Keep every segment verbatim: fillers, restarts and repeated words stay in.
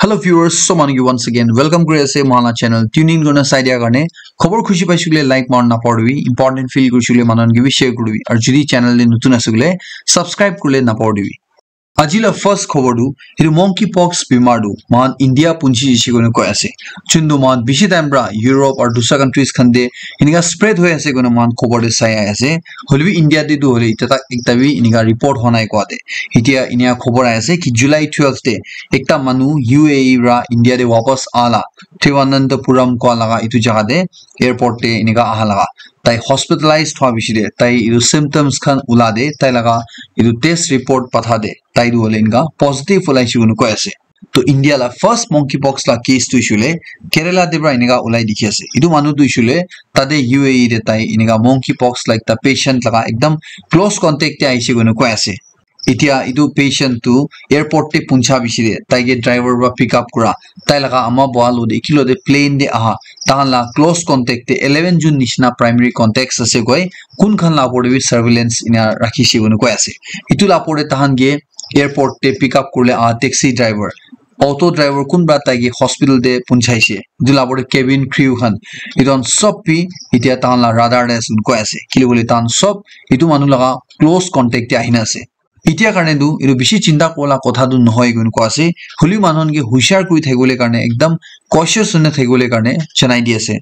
Hello viewers, so manu ki once again welcome kuri ase mohan la channel. Tune in kurina sai dia karne khobor khushi paishe koile like marna napahoribi, important feel kurishe koile manu khan ke bi share kuribi, aru jodi channel te notun ase koile subscribe kuribole napahoribi. Aji la first khobor tu, etu monkeypox bimar tu mohan India punchi jishe koina koi ase. Chun tu mohan bishi time pra Europe aru dusra countries khan te enika spread hoi ase koina mohan khobor te sai ahi ase. Hoilebi India te tu hoile itya tak ekta bi enika report hwa nai koa te. Itya enika khobor ahi ase ki July twelve te ekta manu U A E pra India te wapas aha la, Thiruvananthapuram koa laga etu jaga te, airport te enika aha laga. Tai hospitalized hwa bishi te, tai etu symptoms khan ula te, tai laga etu test report patha te, tai tu hoile enika positive ulaishe koina koi ase. To India la first monkeypox la case tu hoishe koile Kerala te pra enika ulai dikhi ase. Etu manu tu hoishe koile tate U A E te tai enika monkeypox la ekta patient laga ekdam close contact te ahishe koina koi ase. Itya etu patient tu airport te puncha bishi te, tai ke driver pra pick up kura, tai laga ama bua lo te, ekilo te plane te aha, tahan la close contact te eleven jun nishina primary contacts ase koi, kun khan la opor te bi surveillance ena rakhishe koina koi ase. Etu la opor te tahan ke airport te pick up kuribole aha taxi driver, auto driver kunba tai ke hospital te punchaishe. Etu la opor te cabin crew khan, etu khan sob bi itya tahan la radar te ase koina koi ase. Kile koile tahan sob etu manu laga close contact te ahina ase. Itya karne tu etu bishi chinta kuribola kotha tu nohoi koina koi ase. Hoilebi manu khan ke hushar kuri thakibole karne, ekdam cautious hoina thakibole karne janai di ase.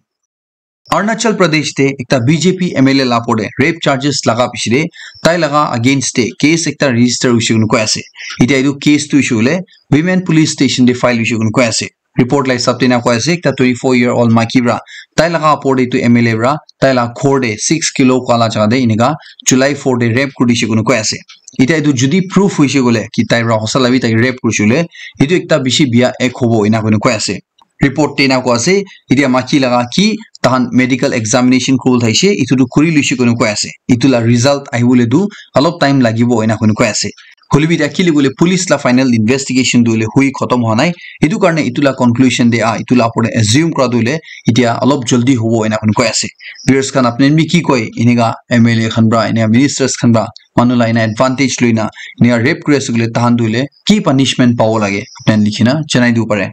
Arunachal Pradesh te ekta B J P M L A la opor te rape charges laga bishi te, tai laga against te case ekta register hoishe koina koi ase. Itya etu case tu hoishe koile Women Police Station te file hoishe koina koi ase. Report la hisab te ena koi ase, ekta twenty-four year old maiki pra, tai laga opor te etu M L A pra, tai la ghor te six kilo koa la jaga te enika July four te rape kuri dishe koina koi ase. Itya etu jodi proof hoishe koile ki tai pra hosa la bi tai rape kurishe koile, etu ekta bishi biya act hobo ena koina koi ase. Report te ena koi ase, itya maiki laga ki tahan medical examination kuribole thaishe, etu tu kuri loishe koina koi ase. Etu la result ahibole tu olop time lagibo ena koina koi ase. Hoilebi itya kile koile police la final investigation tu hoile hui khotom hwa nai. Etu karne etu la conclusion te ah, etu la opor te assume kura tu hoile itya olop jaldi hobo ena koina koi ase. Viewers khan apni khan bi ki koi, enika M L A khan pra, enika ministers khan pra manu la ena advantage loina enika rape kuri ase koile tahan tu hoile ki punishment pabo lage, apni khan likhina janai dibo pare.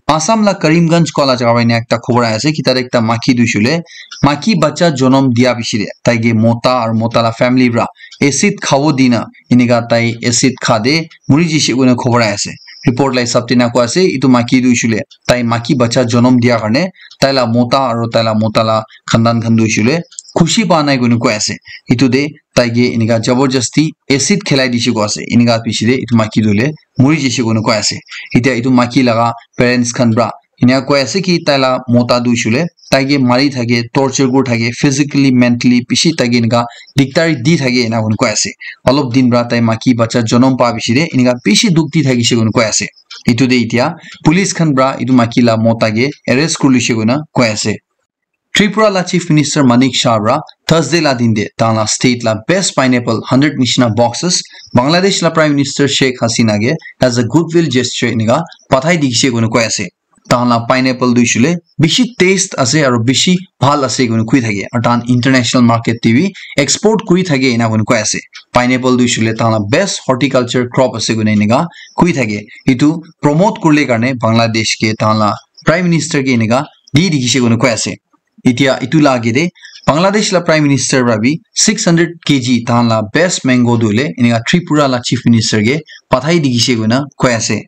Assam la Karimganj koa la jaga pra ena ekta khobor ahi ase ki tate ekta maiki tu hoishe koile maiki bacha jonom dia bishi te tai ke mota aru mota la family pra acid khabo dina enika tai acid kha te muri jishe koina khobor ahi ase. Report la hisab te ena koi ase etu maiki tu hoishe koile tai maiki bacha jonom dia karne tai la mota aru tai la mota la khandan khan tu hoishe koile khushi pa nai koina koi ase. Etu te tai ke enika jabardasti acid khilai dishe koi ase. Enika bishi te etu maiki tu hoile muri jishe koina koi ase. Itya etu maiki laga parents khan pra enika koi ase ki tai la mota tu hoishe koile tai ke mari thake, torture kuri thake, physically, mentally bishi tai ke enika dikdari di thake ena koina koi ase. Olop din pra tai maiki bacha jonom pa bishi te enika bishi dukh di thakishe koina koi ase. Etu te itya police khan pra etu maiki la mota ke arrest kuri loishe koina koi ase. Tripura la Chief Minister Manik Saha pra Thursday la din te tahan la state la best pineapple hundred nishina boxes Bangladesh la Prime Minister Sheikh Hasina ke as a goodwill gesture enika pathai dikhishe koina koi ase. Tahan la pineapple tu hoishe koile bishi taste ase aru bishi bhal ase koina koi thake, aru tahan international market te bi export kuri thake ena koina koi ase. Pineapple tu hoishe koile tahan la best horticulture crop ase koina enika koi thake. Etu promote kuribole karne Bangladesh ke tahan la Prime Minister ke enika di dikhishe koina koi ase. Itya etu la age te Bangladesh la Prime Minister pra bi six hundred K G tahan la best mango tu hoile enika Tripura la Chief Minister ke pathai dikhishe koina koi ase.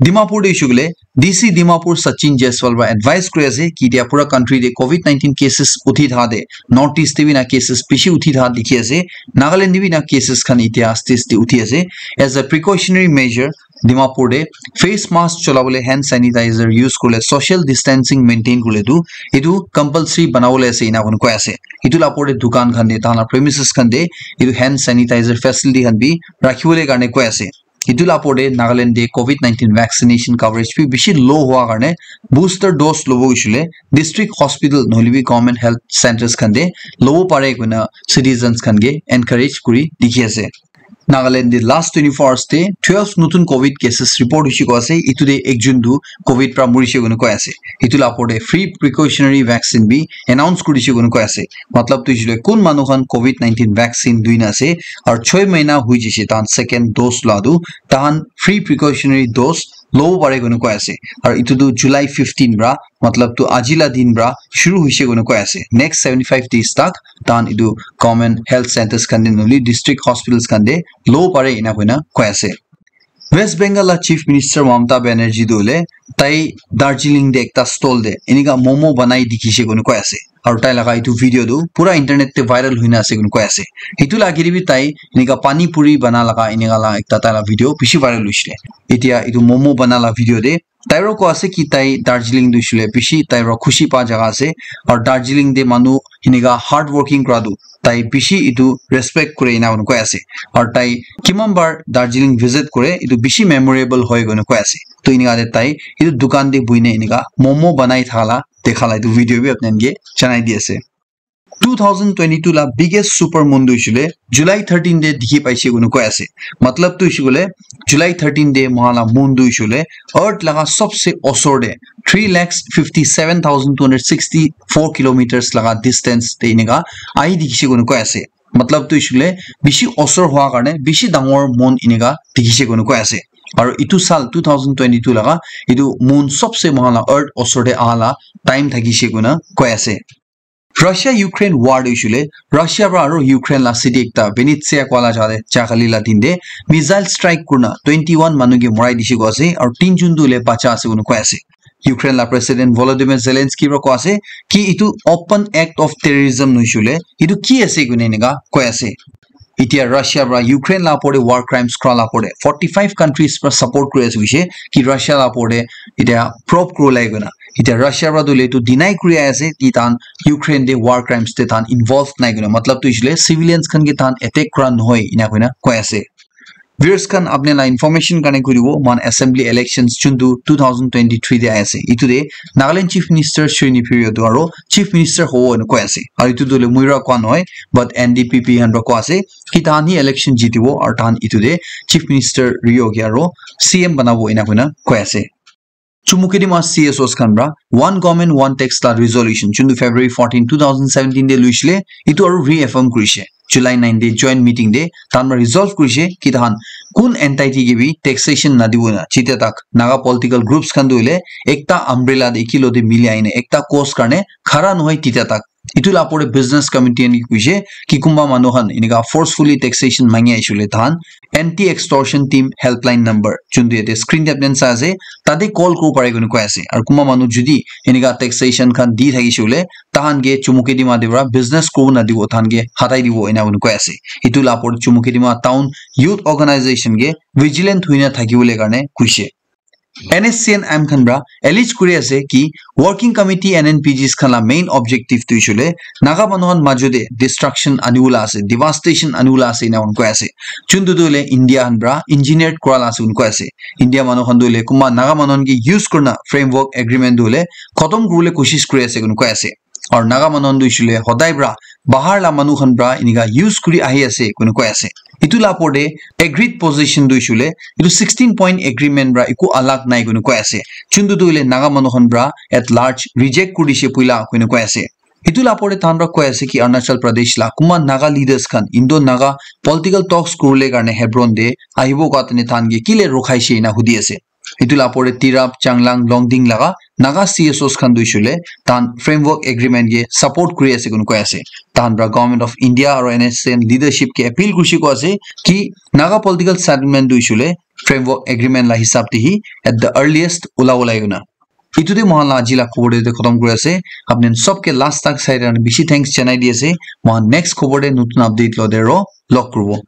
Dimapur te hoishe koile D C Dimapur Sachin Jaiswal pra advice kuri ase ki itya pura country te covid nineteen cases uthi thaha te North East te bi na cases bishi uthi thaha dikhi ase, Nagaland te bi na cases khan itya stage te uthi ase. As a precautionary measure, Dimapur te face mask cholabole, hand sanitizer use kuribole, social distancing maintain kuribole tu etu compulsory banabole ase ena koina koi ase. Etu la opor te dukan khan te tahan la premises khan te etu hand sanitizer facility khan bi rakhibole karne koi ase. Etu la opor te Nagaland te covid nineteen vaccination coverage bi bishi low hua karne booster dose lobo hoishe koile district hospital nohoile bi government health centres khan te lobo pare koina citizens khan ke encourage kuri dikhi ase. Nagaland te last twenty-four hours te twelve notun covid cases report hoishe koi ase. Etu te ekjon tu covid pra murishe koina koi ase. Etu la opor te free precautionary vaccine bi announce kuri dishe koina koi ase. Matlab tu hoishe koile kun manu khan covid nineteen vaccine loi na ase aru choi mahina hoi jaise tahan second dose lua tu, tahan free precautionary dose lobo pare koina koi ase. Aru etu tu July fifteen pra, matlab tu aji la din pra shuru hoise koina koi ase. Next seventy five days tak tahan etu government health centres khan te nohoile district hospitals khan te lobo pare ena koina koi ase. West Bengal la Chief Minister Mamata Banerjee tu hoile tai Darjeeling te ekta stall te enika momo banai dikhise koina koi ase. Aru tai laga etu video tu pura internet te viral hoina ase koina koi ase. Etu la agete bi tai enika pani puri bana laga enika la ekta tai la video bishi viral hoisile. Etia etu momo bana la video te tai ro koi ase ki tai Darjeeling tu hoisile bishi tai ro khushi pa jaga ase. Aru Darjeeling te manu enika hard working kura tu tai bishi etu respect kure ena koina koi ase. Aru tai kiman bar Darjeeling visit kure etu bishi memorable hoi koina koi ase. To enika te tai etu dukan te buhina enika momo banai thaka la dekha la etu video bi apni khan ke janai di ase. Two thousand twenty-two la biggest super moon tu hoisile July thirteen te dikhi paise koina koi ase. Matlab tu hoishe koile July thirteen te moikhan la moon tu hoishe koile earth laga sobse osor te three lakhs fifty seven thousand two hundred sixty four kilometers laga distance te enika ahi dikhise koina koi ase. Matlab tu hoishe koile bishi osor hua karne bishi dangor moon enika dikhise koina koi ase. Aru etu saal two thousand twenty-two laga etu moon sobse moikhan la earth osor te aha la time thakise koina koi ase. Russia Ukraine war tu hoishe koile Russia pra aru Ukraine la city ekta Vinnytsia koa la jaga te jakali la din te missile strike kurina twenty one manu ke morai dishe koa ase aru tinjun tu hoile bacha ase koina koi ase. Ukraine la President Volodymyr Zelensky pra koa ase ki etu open act of terrorism nohoishe koile etu ki ase koina enika koi ase. Etia Russia pra Ukraine la opor te war crimes kura la opor te forty five countries pra support kuri ase hoishe ki Russia la opor te etia probe kuri lai koina. Etia Russia pra tu hoile etu deny kuri ase ki tahan Ukraine te war crimes te tahan involved nai koina. Matlab tu hoishe koile civilians khan ke tahan attack kura nohoi ena koina koi ase. Viewers khan apni la information karne kuri dibo moikhan assembly elections juntu two thousand twenty-three te ahi ase. Etu te Nagaland Chief Minister Sri Neiphiu Rio tu aru Chief Minister hobo ena koi ase. Aru etu tu hoile moi pra koa nohoi but N D P P khan pra koa ase. Ki tahan hi election jitibo aru tahan etu te Chief Minister Rio ke aru C M banabo ena koina koi ase. Chumukedima C S Os khan pra One Government One Tax la resolution juntu February fourteen, two thousand seventeen te luisile etu aru reaffirm kurishe. July nine te joint meeting te tahan pra resolve kurishe ki tahan kun entity ke bi taxation nadibo na jitya tak Naga political groups khan tu hoile ekta umbrella te ekilo te mili ahine ekta cause karne khara nohoi titya tak. Etu la opor te business committee khan ke koishe ki kunba manu khan enika forcefully taxation mangi ahishe koile tahan anti extortion team helpline number juntu yate screen te apni khan sai ase tate call kuribo pare koina koi ase. Aru kunba manu jodi enika taxation khan di thakishe koile tahan ke Chumukedima te pra business kuribo nadibo tahan ke hatai dibo ena koina koi ase. Etu la opor te Chumukedima town youth organization ke vigilant hoina thakibole karne koishe. N S C N M khan pra allege kuri ase ki working committee N N P Gs khan la main objective tu hoishe koile Naga manu khan majo te destruction anibola ase, devastation anibola ase ena koi ase. Juntu tu hoile India khan pra engineered kura la ase koi ase. India manu khan tu hoile kunba Naga manu khan ke use kurina framework agreement tu hoile khotom kuribole koshish kuri ase koi ase. Aru Naga manu khan tu hoishe koile hodai pra bahar la manu khan pra enika use kuri ahi ase koina koi ase. Etu la opor te agreed position tu hoishe koile etu sixteen point agreement pra eku alag nai koina koi ase. Juntu tu hoile Naga manu khan pra at large reject kuri dishe puila koina koi ase. Etu la opor te tahan pra koi ase ki Arunachal Pradesh la kunba Naga leaders khan Indo Naga political talks kuribole karne Hebron te ahibo koa tene tahan ke kile rukhaishe ena hudi ase. Etu la opor te Tirap, Changlang, Longding laga Naga C S Os khan tu hoishe koile tahan framework agreement ke support kuri ase koina koi ase. Tahan pra Government of India aru N S C N leadership ke appeal kurishe koi ase ki Naga political settlement tu hoishe koile framework agreement la hisab te hi at the earliest ulabo lage koina. Etu te moikhan la aji la khobor te khotom kuri ase. Apni khan sob ke last tak sai karne bishi thanks janai di ase. Moikhan next khobor te notun update lo te ro log kuribo.